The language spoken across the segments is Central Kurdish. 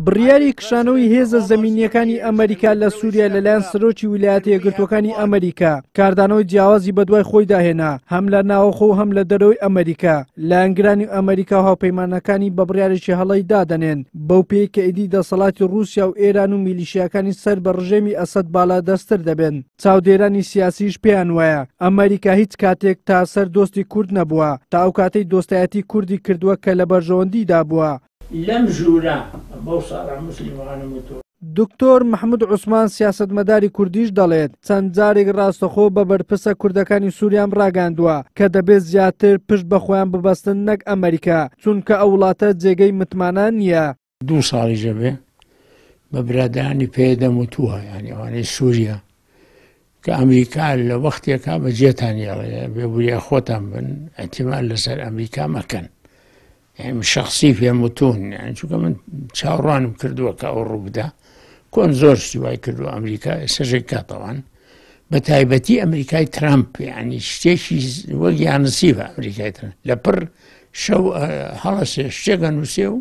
بڕیاری کشانەوەی هێزە زەمینییەکانی ئەمەریکا لە سووریا لەلایەن سەرۆکی ویلایەتە یەکگرتووەکانی ئەمەریکا کاردانەوەی جیاوازی بەدوای خۆیدا هێنا، هەم لە ناوەخۆ و هەم لە دەرەوەی ئەمەریکا. لایەنگرانی ئەمەریکا و هاوپەیمانەکانی بە بڕیارێکی هەڵەی دادەنێن، بەو پێیەی کە ئیدی دەسەڵاتی ڕووسیا و ئێران و میلیشیاکانی سەر بە ڕژێمی ئەسەد باڵادەستتر دەبن. چاودێرانی سیاسیش پێیان وایە ئەمەریکا هیچ کاتێک تا سەر دۆستی کورد نەبووە، تا ئەو کاتەی دۆستایەتی کوردی کردووە کە لە بەرژەوەندیدا بووە. لەم ژوورە بەو ساڵح موسلیم وانەم وتووە. دکتۆر محمود عوسمان سیاسەتمەداری کوردیش دەڵێت، چەند جارێک ڕاستەخۆ بە بەرپرسە کوردەکانی سوریام ڕاگەیاندووە کە دەبێت زیاتر پشت بە خۆیان ببەستن نەک ئەمەریکا، چونکە ئەو وڵاتە جێگەی متمانە نییە. دوو ساڵیش ئەبێ بە برادەرانی پەیەدەم وتووە یانی ئەوانەی سووریا کە ئەمریکا لە وەختێکا بە جێتان یاڵێ بێ وریا خۆتان بن ئەتیمان لەسەر ئەمریکا مەکەن یعنی من شخصی پێم وتون یعنی چونکە من چاوەڕوانم کردووە کە ئەو ڕووبدا کۆن زۆر شتی وای کردو ئەمریکا ئێستا کاتەوان بە تایبەتی ئەمریکای ترامپ یعنی شتێکی وەک یانسیبە ئەمریکای ترامپ لە پڕ شەو هەڵەسێ شتێکە نووسێ و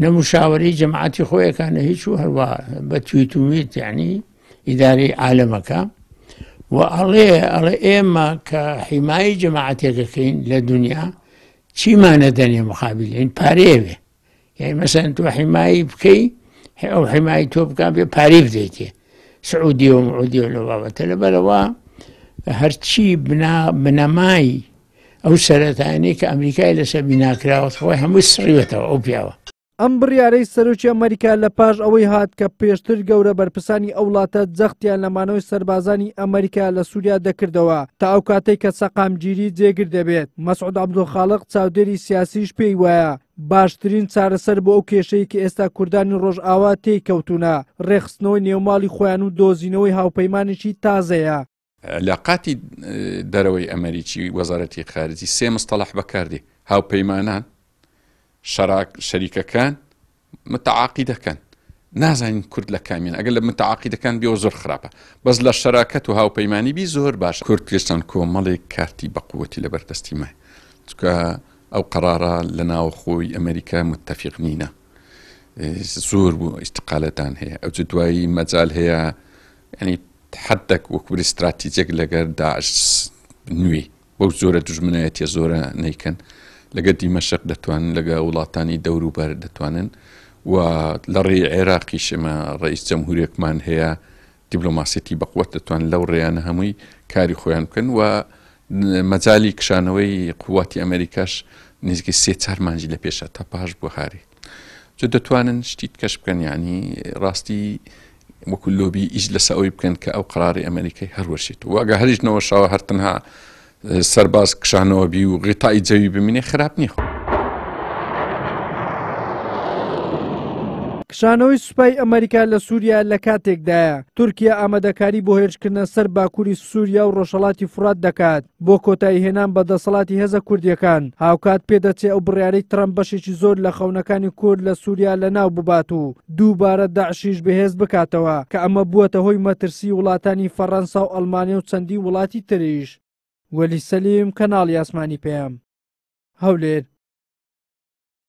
نە مشاوەرەی جەماعەتی خۆیەکە نە هیچ و هەروە بە تویت و میت یعنی ئیدارەی عالەمەکە و ئەڵێ ئەڵێ ئێمە کە حیمایی جەماعەتێکەکەین لە دنیا چیمانە دەنێ مقابلین پارەیەوێ یعنی مەسەن تۆ حیمایی بکەی ئەو حیمایی تۆ بکە بێ پارەی بدەیتێ سعودی و معودی و لە بابەتە لەبەرەوە هەرچی بنا بنەمای ئەو سەرەتایانەی کە ئەمریکای لەسەر بیناکراوە خۆی هەمووی سڕیوەتەوە ئەو پیاوە. ئەم بڕیارەی سەرۆکی ئەمریکا لە پاش ئەوەی هات کە پێشتر گەورە بەرپرسانی ئەو وڵاتە جەختیان لە مانەوەی سەربازانی ئەمریکا لە سووریا دەکردەوە تا ئەو کاتەی کە سەقامگیری جێگر دەبێت. مەسعود عەبدولخاڵق چاودێری سیاسیش پێی وایە باشترین چارەسەر بۆ ئەو کێشەی کە ئێستا کوردانی ڕۆژئاوا تێی کەوتوونە، ڕێکخستنەوەی نێوماڵی خۆیان و دۆزینەوەی هاوپەیمانێکی تازەیە. علاقاتی دەرەوەی ئەمەریکی وەزارەتی خارجی سێ مستەڵح بەکاردێ هاوپەیمانان شەراک شەریکەکان متعاقیدەکان نازانین کورد لە کامیان ئەگەر لە متعاقیدەکان بیەوە زۆر خراپە بەس لە شەراکەت و هاوپەیمانی بی زۆر باش کورد پێشتان کۆمەڵێک کارتی بەقوەتی لەبەر دەستی مای چونکە ئەو قەرارە لە ناوخۆی ئەمریکا متفق نینە زۆر بوو ئیستقالەتان هەیە ئەو دوایی مەجال هەیە یانی حدک وەکو بری ستراتیجێک لەگەر داعش نوێی بەو جۆرە دوژمنایەتیە زۆرە نیکەن لەگە دیمەشق دەتوانن لەگە وڵاتانی دەوروبەر دەتوانن و لە ڕێی عێراقیش ئێمە ڕئیس جەمهورێکمان هەیە دیبلۆماسیەتی بەقوت دەتوان لەو ڕێیانە هەمووی کاری خۆیان بکەن و مەجای کشانەوەی قوواتی ئەمریکاش نزیکەی سێ چار مانجی لە پێشە تا پاش بوهاری جو دەتوانن شتی کەش بکەن یعنی ڕاستی وەکو لۆبی ئیش لەسە ئەوەی بکەن کە ئەو قراری ئەمریکای هەروەشێت و ئەگە هەریش نەوەشاوە هەر تەنها سەرباز کشانەوە بی و غیتای جەوی بمینێ خراپ نییە. کشانەوەی سوپای ئەمریکا لە سووریا لە کاتێکدایە، تورکیا ئامادەکاری بۆ هێرشکردنە سەر باکووری سووریا و ڕۆژهەڵاتی فورات دەکات بۆ کۆتاییهێنان بە دەسەڵاتی هێزە کوردییەکان، هاوکات پێدەچێ ئەو بڕیارەی ترەمپ بەشێکی زۆر لە خەونەکانی کورد لە سووریا لەناو ببات و دووبارە داعشیش بەهێز بکاتەوە، کە ئەمە بووەتە هۆی مەترسیی وڵاتانی فەڕەنسا و ئەڵمانیا و چەندین وڵاتی تریش. وەلی سەلیم، کەناڵی ئاسمانی پەیام، هەولێر.